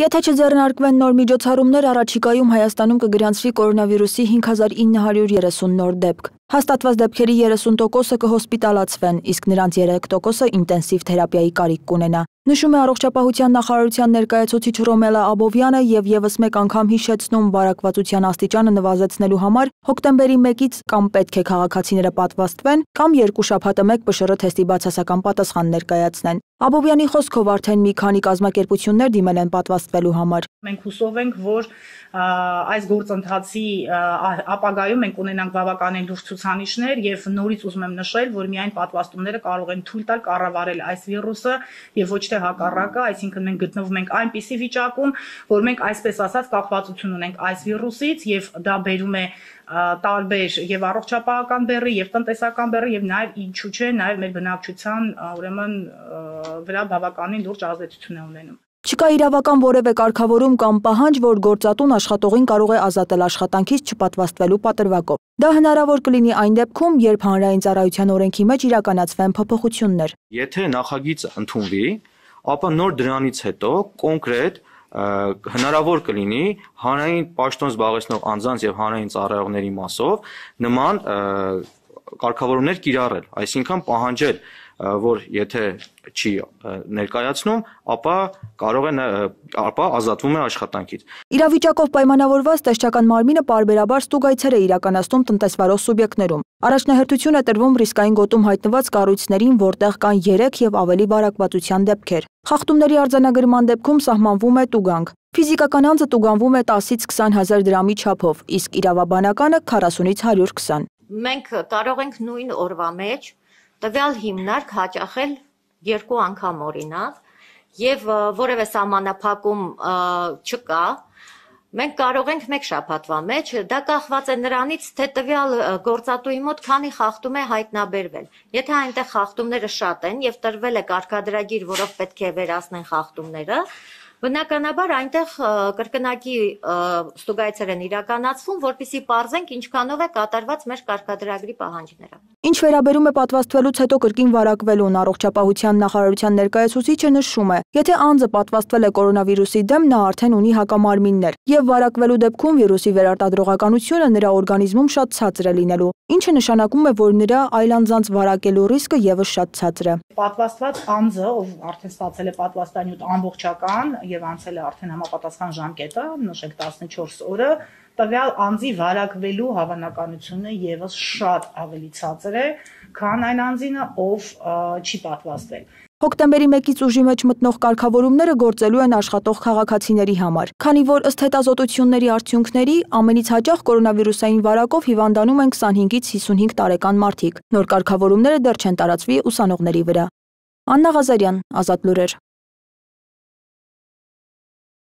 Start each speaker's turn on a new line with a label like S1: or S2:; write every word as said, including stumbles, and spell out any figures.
S1: Եթե չձեռնարկվեն նոր միջոցառումներ, առաջիկայում Հայաստանում կգրանցվի կորոնավիրուսի հինգ հազար ինը հարյուր երեսուն նոր դեպք։ Հաստատված դեպքերի երեսուն տոկոսը կհոսպիտալացվեն, իսկ նրանց երեք տոկոսը ինտենսիվ թերապիայի կարիք կունենա։ Նշում է Առողջապահության նախարարության ներկայացուցիչ Ռոմելա Աբովյանը եւ եւս մեկ անգամ հիշեցնում վարակվածության աստիճանը նվազեցնելու համար հոկտեմբերի մեկից կամ պետք է քաղաքացիները պատվաստվեն, կամ երկու շաբաթը մեկ ՊՇՌ թեստի բացասական պատասխան ներկայացնեն։ Աբովյանի խոսքով արդեն մի քանի կազմակերպություններ դիմել են պատվաստվելու համար։
S2: Մենք հուսով ենք, որ այս գործընթացի ապագայում մենք ունենանք բավականին լուրջ ցուցանիշներ եւ նորից ուզում եմ նշել, որ միայն պատվաստումները կարող են թույլ տալ կառավարել այս վիրուսը եւ ոչ թե հակառակը, այսինքն մենք գտնվում ենք այնպիսի վիճակում, որ մենք այսպես ասած կախվածություն ունենք այս վիրուսից եւ դա բերում է տարբեր եւ առողջապահական բեռի եւ տնտեսական բեռի եւ նաեւ ինչու՞ չէ նաեւ մեր բնակչության ուրեմն վրա բավականին լուրջ ազդեցություն է ունենում։
S1: Չկա իրավական որևէ կարգավորում կամ պահանջ, որ գործատուն աշխատողին կարող է ազատել աշխատանքից չպատվաստվելու պատրվակով։ Դա հնարավոր կլինի այն դեպքում, երբ հանրային ծառայության օրենքի մեջ իրականացվեն փոփոխություններ։
S3: Եթե նախագիծը ընդունվի, ապա նոր դրանից հետո կոնկրետ հնարավոր կլինի հանրային պաշտոն զբաղեցնող անձանց եւ հանրային ծառայողների մասով նման կարգավորումներ կիրառել, այսինքն պահանջել, որ եթե չի ներկայացնում, ապա կարող է ապա ազատվում է աշխատանքից։
S1: Իրավիճակով պայմանավորված տեսչական մարմինը պարբերաբար ստուգայցեր է իրականացնում տնտեսվարող սուբյեկտներում։ Առաջնահերթություն է տրվում ռիսկային գոտում հայտնված կառույցներին, որտեղ կան երեք եւ ավելի վարակվածության դեպքեր։ Խախտումների արձանագրման դեպքում սահմանվում է տուգանք։ Ֆիզիկական անձը տուգանվում է տասից քսան հազար դրամի չափով, իսկ իրավաբանականը քառասունից հարյուր քսան։
S4: Մենք կարող ենք նույն օրվա մեջ տվյալ հիմնարկ հաճախել երկու անգամ օրինակ եւ որևէ սահմանափակում չկա, մենք կարող ենք մեկ շաբաթվա մեջ, դա կախված է նրանից, թե տվյալ գործատուի մոտ քանի խախտում է հայտնաբերվել։ Եթե այնտեղ խախտումները շատ են եւ տրվել է կարգադրագիր, որով պետք է վերացնեն խախտումները, բնականաբար այնտեղ կրկնակի ստուգայցեր են իրականացվում, որպեսզի պարզենք ինչքանով է կատարված մեր կարգադրագրի պահանջները։
S1: Ինչ վերաբերում է պատվաստվելուց հետո կրկին վարակվելուն, Առողջապահության նախարարության ներկայացուցիչը նշում է, եթե անձը պատվաստվել է կորոնավիրուսի դեմ, նա արդեն ունի հակամարմիններ, եւ վարակվելու դեպքում վիրուսի վերարտադրողականությունը նրա օրգանիզմում շատ ցածր է լինելու, ինչը նշանակում է, որ նրա այլանձանց վարակելու ռիսկը եւս շատ ցածր է։
S2: Պատվաստված անձը, ով արդեն ստացել է պատվաստանյութ ամբողջական եւ անցել է արդեն համապատասխան ժամկետը, նշենք տասնչորս օրը, տվյալ անձի վարակվելու հավանականությունը եւս շատ ավելի ցածր է, քան այն անձինը, ով չի պատվաստվել։
S1: Հոկտեմբերի մեկից ուժի մեջ մտնող կարգավորումները գործելու են աշխատող քաղաքացիների համար, քանի որ ըստ հետազոտությունների արդյունքների ամենից հաճախ կորոնավիրուսային վարակով հիվանդանում են քսանհինգից հիսունհինգ տարեկան մարդիկ։ Նոր կարգավորումները դեռ չեն տարածվի ուսանողների վրա։ Աննա Ղազարյան, Ազատ լուրեր։